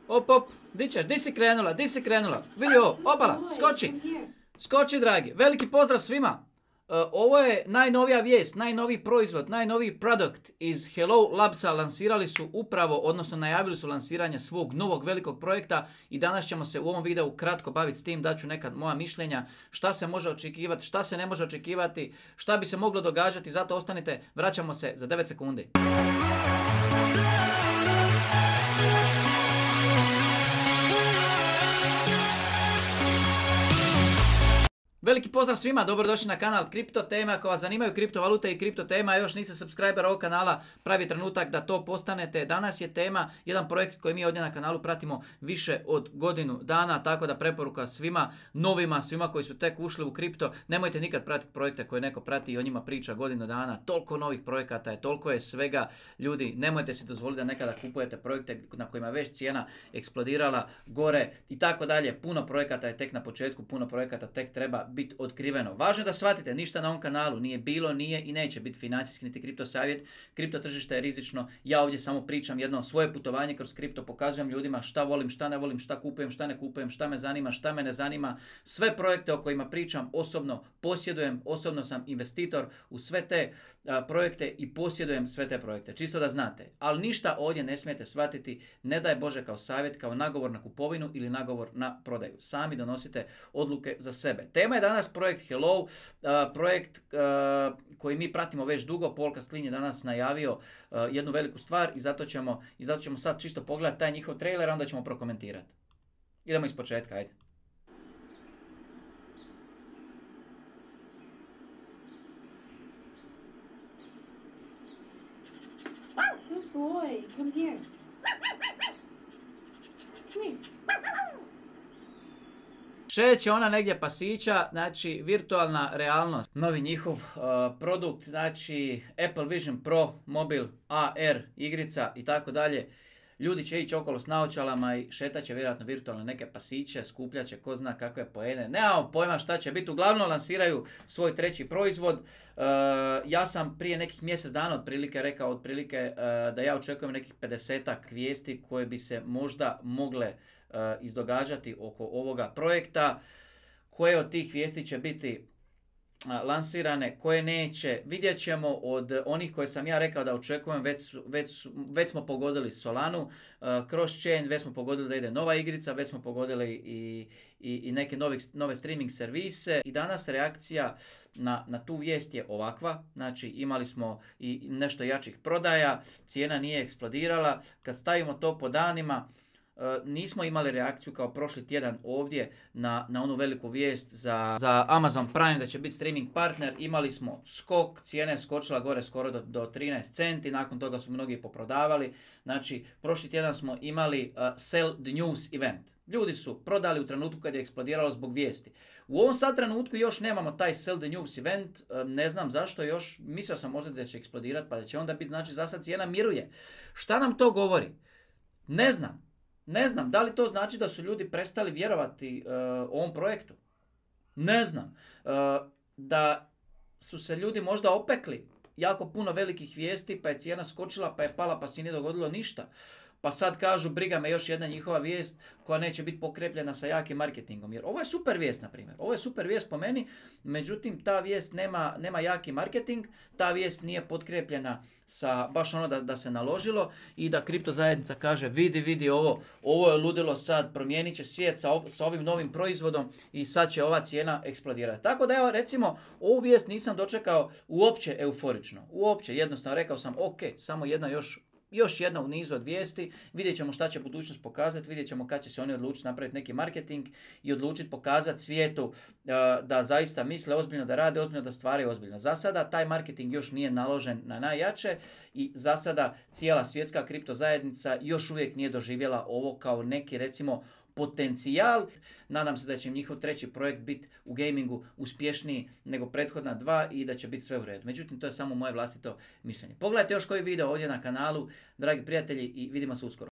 Op, op, di ćeš, di si krenula, di si krenula? Vidi ovo, opala, skoči. Skoči, dragi. Veliki pozdrav svima. Ovo je najnovija vijest, najnoviji proizvod, najnoviji produkt iz Hello Labsa. Lansirali su upravo, odnosno najavili su lansiranje svog novog velikog projekta i danas ćemo se u ovom videu kratko baviti s tim, daću neka moja mišljenja, šta se može očekivati, šta se ne može očekivati, šta bi se moglo događati, zato ostanite, vraćamo se za 9 sekundi. Veliki pozdrav svima, dobrodošli na kanal Kripto Tema. Ako vas zanimaju kriptovalute i kripto tema, još niste subscriber ovog kanala, pravi trenutak da to postanete. Danas je tema jedan projekt koji mi ovdje na kanalu pratimo više od godinu dana, tako da preporuka svima novima, svima koji su tek ušli u kripto, nemojte nikad pratiti projekte koje neko prati i o njima priča godinu dana. Toliko novih projekata je, toliko je svega. Ljudi, nemojte si dozvoliti da nekada kupujete projekte na kojima je već cijena eksplodirala gore i tako dalje. Puno projekata je tek na početku, puno projekata tek treba biti otkriveno. Važno je da shvatite, ništa na ovom kanalu nije bilo, nije i neće biti financijski niti kripto savjet. Kripto tržište je rizično. Ja ovdje samo pričam jedno svoje putovanje kroz kripto, pokazujem ljudima šta volim, šta ne volim, šta kupujem, šta ne kupujem, šta me zanima, šta me ne zanima. Sve projekte o kojima pričam osobno posjedujem, osobno sam investitor u sve te projekte i posjedujem sve te projekte. Čisto da znate. Ali ništa ovdje ne smijete shvatiti, ne daj Bože kao savjet, kao nagovor na kupovinu ili nagovor na prodaju. Sami donosite odluke za sebe. Tema je danas projekt Hello, projekt koji mi pratimo već dugo. Paul Kastlin je danas najavio jednu veliku stvar i zato ćemo sad čisto pogledati taj njihov trailer, a onda ćemo prokomentirati. Idemo iz početka, ajde. Good boy, come here. Come here. Šeće ona negdje pasića, znači virtualna realnost, novi njihov produkt, znači Apple Vision Pro, mobil, AR, igrica i tako dalje. Ljudi će ići okolo s naočalama i šetat će vjerojatno virtualno neke pasiće, skupljat će ko zna kakve poene. Nemamo pojma šta će biti, uglavnom lansiraju svoj treći proizvod. Ja sam prije nekih mjesec dana otprilike rekao da ja očekujem nekih 50-ak vijesti koje bi se možda mogle izdogađati oko ovoga projekta. Koje od tih vijesti će biti lansirane, koje neće, vidjet ćemo. Od onih koje sam ja rekao da očekujem, već smo pogodili Solanu, cross-chain, već smo pogodili da ide nova igrica, već smo pogodili i neke nove streaming servise. I danas reakcija na tu vijest je ovakva, znači imali smo i nešto jačih prodaja, cijena nije eksplodirala. Kad stavimo to po danima, nismo imali reakciju kao prošli tjedan ovdje na onu veliku vijest za Amazon Prime da će biti streaming partner. Imali smo skok, cijena je skočila gore skoro do 13 centi, nakon toga su mnogi poprodavali. Znači, prošli tjedan smo imali sell the news event. Ljudi su prodali u trenutku kad je eksplodiralo zbog vijesti. U ovom sad trenutku još nemamo taj sell the news event, ne znam zašto još, mislio sam možda da će eksplodirati pa da će onda biti, znači za sad cijena miruje. Šta nam to govori? Ne znam, da li to znači da su ljudi prestali vjerovati ovom projektu? Ne znam. Da su se ljudi možda opekli jako puno velikih vijesti, pa je cijena skočila, pa je pala, pa se nije dogodilo ništa. Pa sad kažu, briga me, još jedna njihova vijest koja neće biti pokrepljena sa jakim marketingom. Jer ovo je super vijest, na primjer. Ovo je super vijest po meni, međutim ta vijest nema jaki marketing, ta vijest nije potkrepljena sa baš ono da se naložilo i da kripto zajednica kaže vidi ovo je ludilo sad, promijenit će svijet sa ovim novim proizvodom i sad će ova cijena eksplodirati. Tako da evo recimo ovu vijest nisam dočekao uopće euforično. Uopće, jednostavno rekao sam ok, samo jedna još jedna u nizu od vijesti, vidjet ćemo šta će budućnost pokazati, vidjet ćemo kad će se oni odlučiti napraviti neki marketing i odlučiti pokazati svijetu da zaista misle ozbiljno, da rade ozbiljno, da stvaraju ozbiljno. Za sada taj marketing još nije naložen na najjače i za sada cijela svjetska kripto zajednica još uvijek nije doživjela ovo kao neki recimo potencijal. Nadam se da će im njihov treći projekt biti u gamingu uspješniji nego prethodna dva i da će biti sve u redu. Međutim, to je samo moje vlastito mišljenje. Pogledajte još koji video ovdje na kanalu, dragi prijatelji, i vidimo se uskoro.